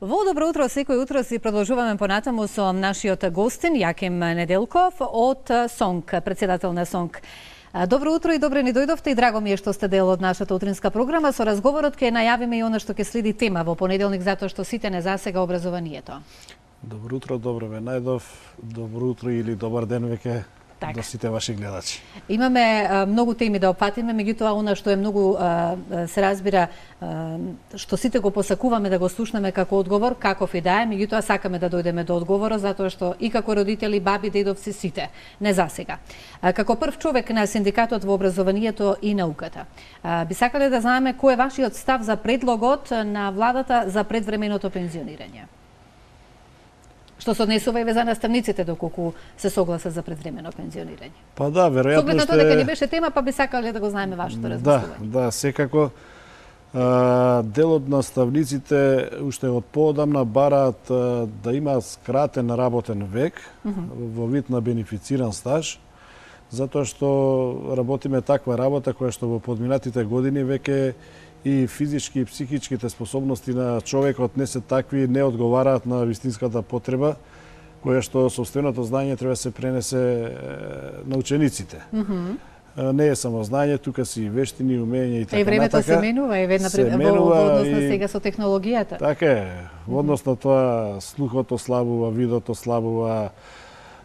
Во добро утро, секој утро си продолжуваме понатаму со нашиот гостин Јаким Неделков од СОНК, председател на СОНК. Добро утро и добре ни дојдовте и драго ми е што сте дел од нашата утринска програма. Со разговорот ќе најавиме и она што ќе следи тема во понеделник, затоа што сите не засега образованието. Добро утро, добро ве најдов. Добро утро или добар ден веќе до сите ваши гледачи. Имаме многу теми да опфатиме, меѓутоа она што е многу се разбира што сите го посакуваме да го слушнеме како одговор, каков и да е, меѓутоа сакаме да дојдеме до одговорот затоа што и како родители, баби, дедовци сите, не засега. Како прв човек на синдикатот во образованието и науката, би сакале да знаеме кој е вашиот став за предлогот на владата за предвременото пензионирање? Што се однесува и за наставниците доколку се согласа за предвремено пензионирање. Па да, веројатно Согласно тоа дека не беше тема, па би сакале да го знаеме вашето размислување. Да, секако дел од наставниците уште од поодамна бараат да има скратен работен век во вид на бенефициран стаж, затоа што работиме таква работа која што во подминатите години веќе и физички и психичките способности на човекот не се такви, не одговараат на вистинската потреба, која што сопственото знаење треба да се пренесе на учениците. Не е само знаење, тука си и вештини, умење и така натака. И времето се менува, и во однос на сега со технологијата. Така е, во однос на тоа слухото слабува, видото слабува,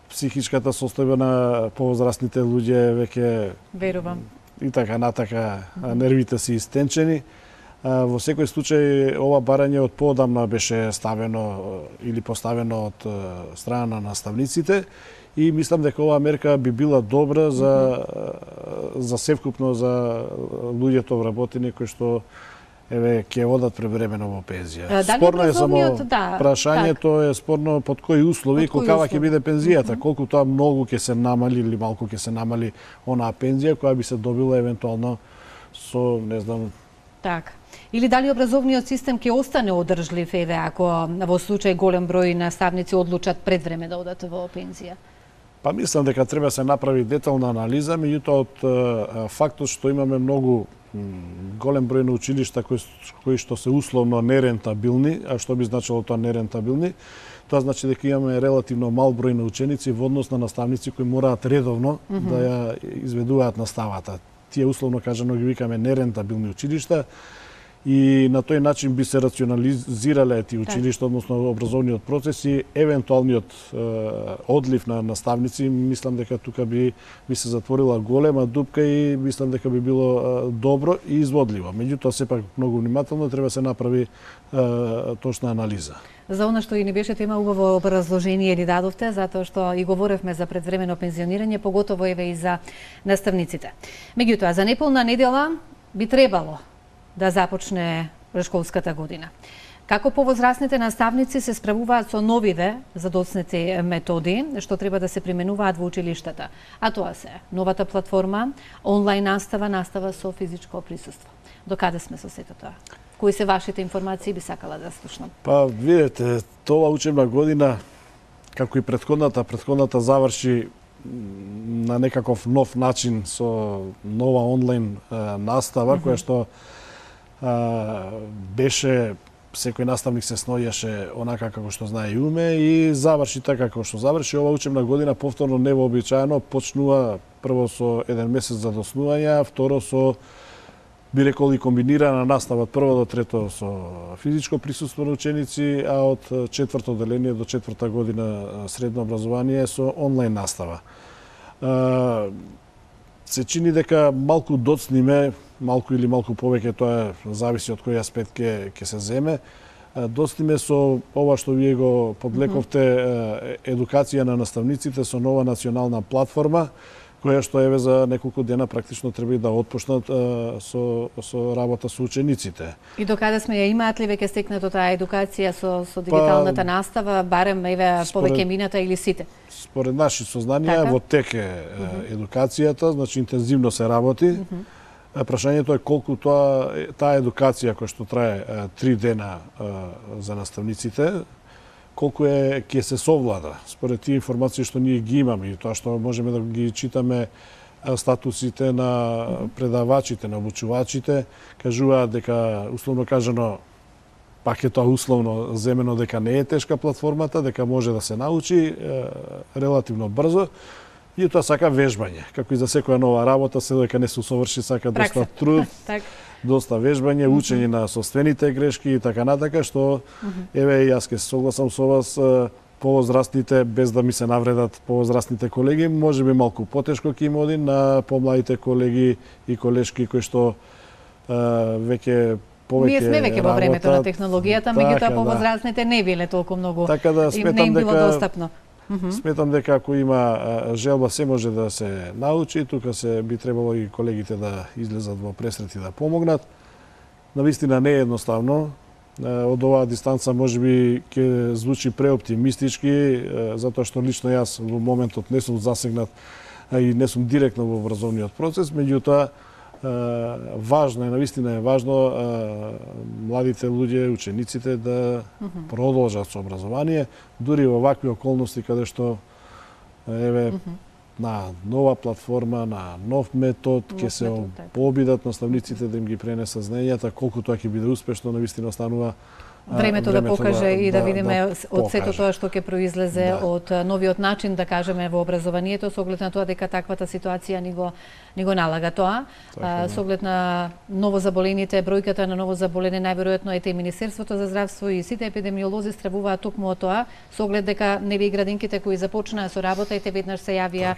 психичката состојба на повозрастните луѓе веќе верувам и така натака, нервите се истенчени. Во секој случај ова барање од поодамна беше ставено или поставено од страна на наставниците и мислам дека оваа мерка би била добра за севкупно за луѓето вработени кои што ќе одат превремено во пензија. Спорно е само прашањето е спорно под кои услови, каква ќе биде пензијата, колку тоа многу ќе се намали или малку ќе се намали онаа пензија која би се добила евентуално со, не знам... Така. Или дали образовниот систем ќе остане одржлив еве ако во случај голем број наставници одлучат пред време да одат во пензија? Па мислам дека треба се направи детална анализа, меѓутоа од фактот што имаме многу голем број на училишта кои што се условно нерентабилни, а што би значило тоа нерентабилни, тоа значи дека имаме релативно мал број на ученици во однос на наставници кои мораат редовно да ја изведуваат наставата. Тие условно кажано ги викаме нерентабилни училишта и на тој начин би се рационализирале тие училишта, односно образовниот процес и евентуалниот одлив на наставници. Мислам дека тука би се затворила голема дупка и мислам дека би било добро и изводливо. Меѓутоа, сепак многу внимателно треба се направи точна анализа. За она што и не беше тема, убаво образложение ни дадовте, затоа што и говоревме за предвремено пензионирање, поготово еве и за наставниците. Меѓутоа, за неполна недела би требало да започне школската година. Како повозрастните наставници се справуваат со новите задоцнети методи што треба да се применуваат во училиштата? А тоа се новата платформа, онлайн настава, настава со физичко присуство. До каде сме со сето тоа? Кои се вашите информации, би сакала да слушнам? Па, видете, тоа учебна година, како и предходната заврши на некаков нов начин со нова онлайн настава, која што беше, секој наставник се сноѓаше онака како што знае и уме и заврши така како што заврши. Ова учебна година повторно невообичаено почнува прво со еден месец за доснување, второ со би рекол и комбинирана настава од прво до трето со физичко присуство на ученици, а од четврто деление до четврта година средно образование со онлайн настава. Се чини дека малку доцниме, малку или малку повеќе, тоа зависи од кој аспект ќе се земе. Доцниме со ова што вие го подлековте едукација на наставниците со нова национална платформа, која што еве за неколку дена практично треба да отпочнат со работа со учениците. И докаде сме ја имаат ли веќе стекнато таа едукација со дигиталната настава, барем еве повеќе мината или сите? Според наши сознанија во тек е едукацијата, значи интензивно се работи. Прашањето е колку таа едукација која што трае 3 дена за наставниците, колку ќе се совлада според тие информации што ние ги имаме и тоа што можеме да ги читаме статусите на предавачите, на обучувачите, кажуваат дека условно кажано пак е тоа условно земено дека не е тешка платформата, дека може да се научи релативно брзо. И тоа сака вежбање. Како и за секоја нова работа, се дека не се усоврши, сака доста труд, доста вежбање, учење на собствените грешки и така натака, што еве јас ке се согласам со вас, повозрастните, без да ми се навредат повозрастните колеги, можеби малку потешко ќе им оди, на помладите колеги и колешки кои што веќе повеќе ние сме веќе во времето на технологијата, меѓутоа повозрастните не биле толку многу, така да не им било достапно. Сметам дека ако има желба, се може да се научи, тука би требало и колегите да излезат во пресрет и да помогнат. Навистина не е едноставно. Од оваа дистанца можеби ќе звучи преоптимистички, затоа што лично јас во моментот не сум засегнат и не сум директно во образовниот процес, меѓутоа важно е, навистина е важно младите луѓе, учениците да продолжат со образование, дури во вакви околности каде што еве на нова платформа, на нов метод, ќе се побидат наставниците да им ги пренесат знаењата, колку тоа ќе биде успешно, навистина останува времето да покаже и да видиме од сето тоа што ќе произлезе од новиот начин, да кажеме, во образованието, со оглед на тоа дека таквата ситуација ни го налага тоа. Со оглед на новозаболените, бројката на новозаболени најверојатно ете и Министерството за здравство и сите епидемиолози стравуваат токму од тоа, со оглед дека нели градинките кои започнаа со работа, ете веднаш се јавија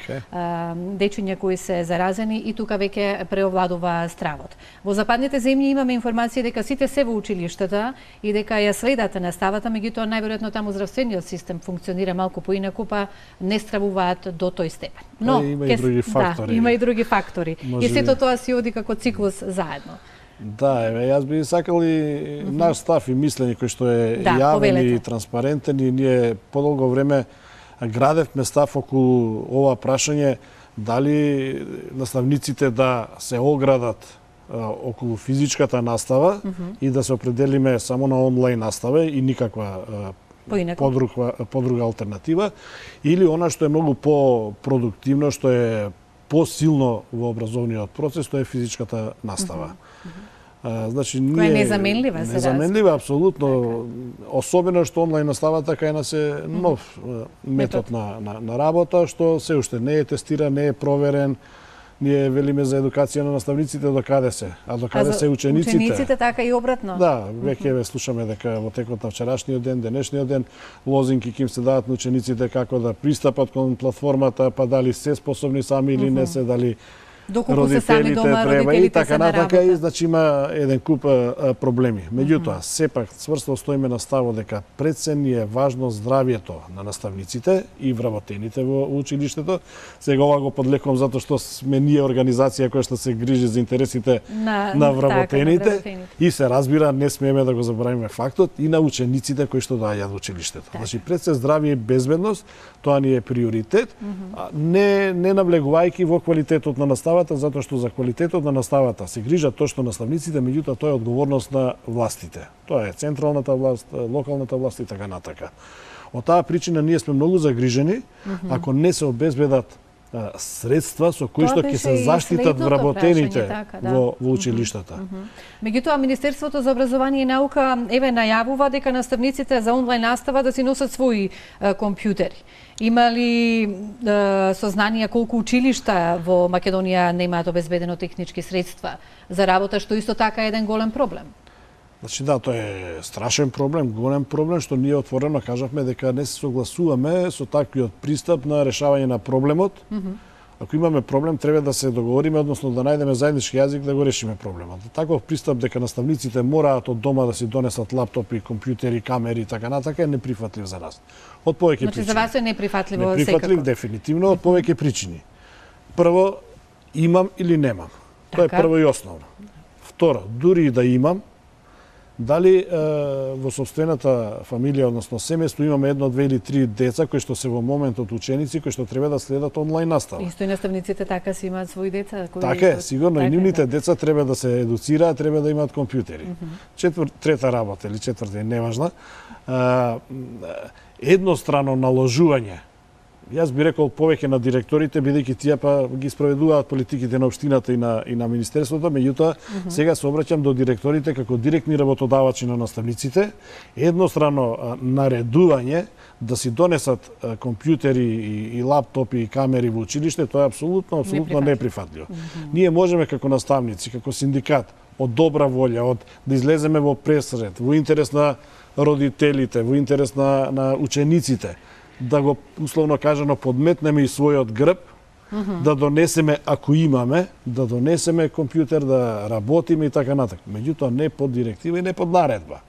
дечиња кои се заразени и тука веќе преовладува стравот. Во западните земји имаме информација дека сите се во училиштата и дека ја следат наставата, меѓутоа најверојатно таму здравствениот систем функционира малку поинаку, па не стравуваат до тој степен. Но има и други фактори. Има и други фактори. И сето тоа си оди како циклус заедно. Да, еве, јас би сакал и наш став и мислење кој што е јавен и транспарентен, и ние подолго време градевме став околу ова прашање дали наставниците да се оградат околу физичката настава и да се определиме само на онлайн настава и никаква подруга алтернатива, или она што е многу по-продуктивно, што е посилно во образовниот процес, тоа е физичката настава. Значи, која е незаменлива, се незаменлива, апсолутно, особено што онлайн наставата кај нас е нов метод на работа, што се уште не е тестиран, не е проверен. Ние велиме за едукација на наставниците до каде се, а до каде се учениците. Учениците така и обратно. Да, веќе слушаме дека во текот на вчерашниот ден, денешниот ден, лозинки ќе им се дадат на учениците како да пристапат кон платформата, па дали се способни сами или не се, дали доколку се сами дома, треба и така натака, и значи има еден куп проблеми. Меѓутоа, сепак цврсто стоиме на ставот дека пред се ни е важно здравието на наставниците и вработените во училиштето. Сега ова го подлекувам затоа што сме ние организација која што се грижи за интересите на вработените, и се разбира, не смееме да го заборавиме фактот и на учениците кои што доаѓаат во училиштето. Значи пред се здравје и безбедност, тоа ни е приоритет, не навлегувајќи во квалитетот на наставата, затоа што за квалитетот на наставата се грижат точно наставниците, меѓутоа тоа е одговорност на властите. Тоа е централната власт, локалната власт и така натака. Од таа причина ние сме многу загрижени ако не се обезбедат средства со кои што ќе се заштитат вработените во училиштата. Меѓутоа, Министерството за образование и наука еве најавува дека наставниците за онлайн настава да си носат своји компјутери. Има ли сознание колку училишта во Македонија немаат обезбедено технички средства за работа, што исто така е еден голем проблем? Значи да, тоа е страшен проблем, голем проблем, што ние отворено кажавме дека не се согласуваме со таквиот пристап на решавање на проблемот. Ако имаме проблем, треба да се договориме, односно да најдеме заеднички јазик да го решиме проблемот. Таков пристап дека наставниците мораат од дома да си донесат лаптопи, компјутери, камери и така натака е неприфатлив за нас. Од повеќе причини. Значи за вас е неприфатливо секако? Неприфатлив дефинитивно од повеќе причини. Прво, имам или немам. Тоа е прво и основно. Второ, дури и да имам, дали во собствената фамилија, односно семејство, имаме едно, две или три деца кои што се во моментот ученици кои што треба да следат онлайн настава. Исто и наставниците така си имаат своји деца кои така е, сигурно и нивните деца треба да се едуцираат, треба да имаат компјутери. Трета работа или четврта, неважна. Еднострано наложување Јас би рекол повеќе на директорите, бидејќи тие па ги спроведуваат политиките на општината и на министерството, меѓутоа сега се обраќам до директорите како директни работодавачи на наставниците, еднострано наредување да си донесат компјутери и лаптопи и камери во училиште, тоа е апсолутно неприфатливо. Ние можеме како наставници, како синдикат, од добра волја, да излеземе во пресред, во интерес на родителите, во интерес на учениците, да го условно кажано подметнеме и својот грб, да донесеме, ако имаме, да донесеме компјутер, да работиме и така натаму. Меѓутоа не под директива и не под наредба.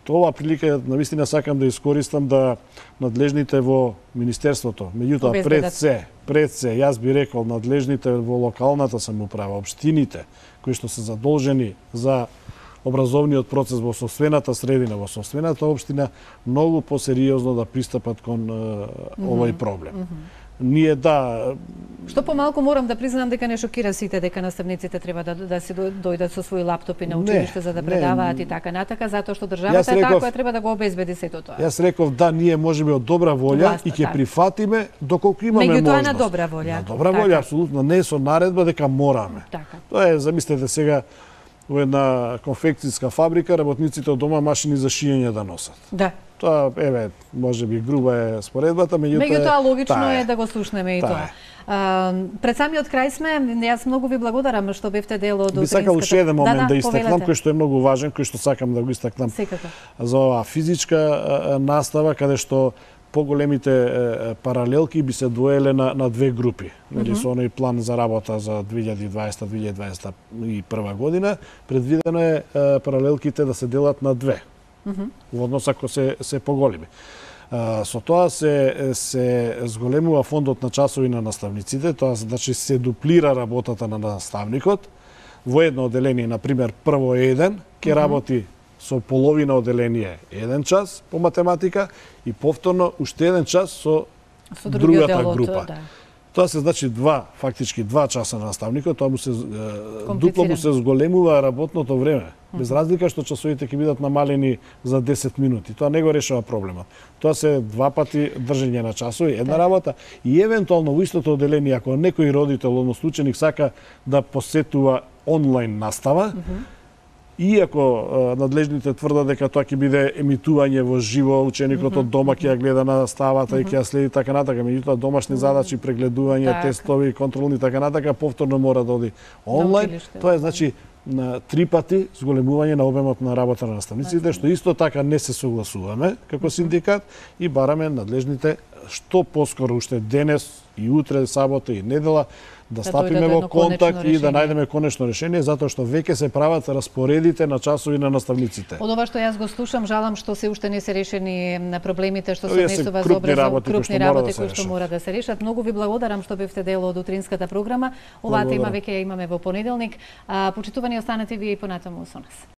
Ова прилика навистина сакам да искористам да надлежните во министерството, меѓутоа пред се, јас би рекол надлежните во локалната самоуправа, општините кои што се задолжени за образовниот процес во собствената средина, во собствената општина, многу посериозно да пристапат кон овој проблем. Ние Што помалку морам да признам дека не шокира сите дека наставниците треба да се дојдат со своји лаптопи на училиште за да предаваат и така натака, затоа што државата е таа која треба да го обезбеди сето тоа. Јас реков ние можеме од добра волја и ќе прифатиме доколку имаме можност. Меѓутоа на добра волја. На добра волја, апсолутно, не со наредба дека мораме. Тоа е, замислете сега, во една конфекцијска фабрика работниците од дома машини за шиење да носат. Да. Тоа, можеби груба е споредбата, меѓутоа логично е да го слушнеме и тоа. Пред самиот крај сме, јас многу ви благодарам што бевте дел од утринската. Би сакал уште еден момент да истакнам, кој што е многу важен, кој што сакам да го истакнам. За оваа физичка настава, каде што поголемите паралелки би се двоеле на две групи. Со оној план за работа за 2020-2021 година, предвидено е паралелките да се делат на две. Во однос ако се поголеми. Со тоа се зголемува фондот на часови на наставниците, тоа значи се дуплира работата на наставникот. Во едно оделение, например, прво еден, ќе работи со половина оделение 1 час по математика и повторно уште 1 час со другата група. Тоа се значи фактички 2 часа на наставникот, тоа дупло му се зголемува работното време. Без разлика што часовите ќе бидат намалени за 10 минути. Тоа не го решава проблемот. Тоа се 2 пати држење на часови, една работа и евентуално во истото оделение, ако некој родител, односно ученик, сака да посетува онлайн настава, иако надлежните тврдат дека тоа ќе биде емитување во живо, ученикот од дома ќе ја гледа наставата и ќе ја следи така натака, меѓутоа домашни задачи, прегледување, тестови, контролни така натака, повторно мора да оди онлайн. Тоа е значи на 3 пати зголемување на обемот на работа на наставниците, што исто така не се согласуваме како синдикат и бараме надлежните што поскоро уште денес и утре, сабота и недела да стапиме во контакт и да најдеме конечно решение, затоа што веќе се прават распоредите на часови на наставниците. Од ова што јас го слушам, жалам што се уште не се решени на проблемите што се однесува за крупни работи кои што мора да се решат. Многу ви благодарам што бевте дел од утринската програма. Оваа тема веќе ја имаме во понеделник. Почитувани, останете вие и понатаму со нас.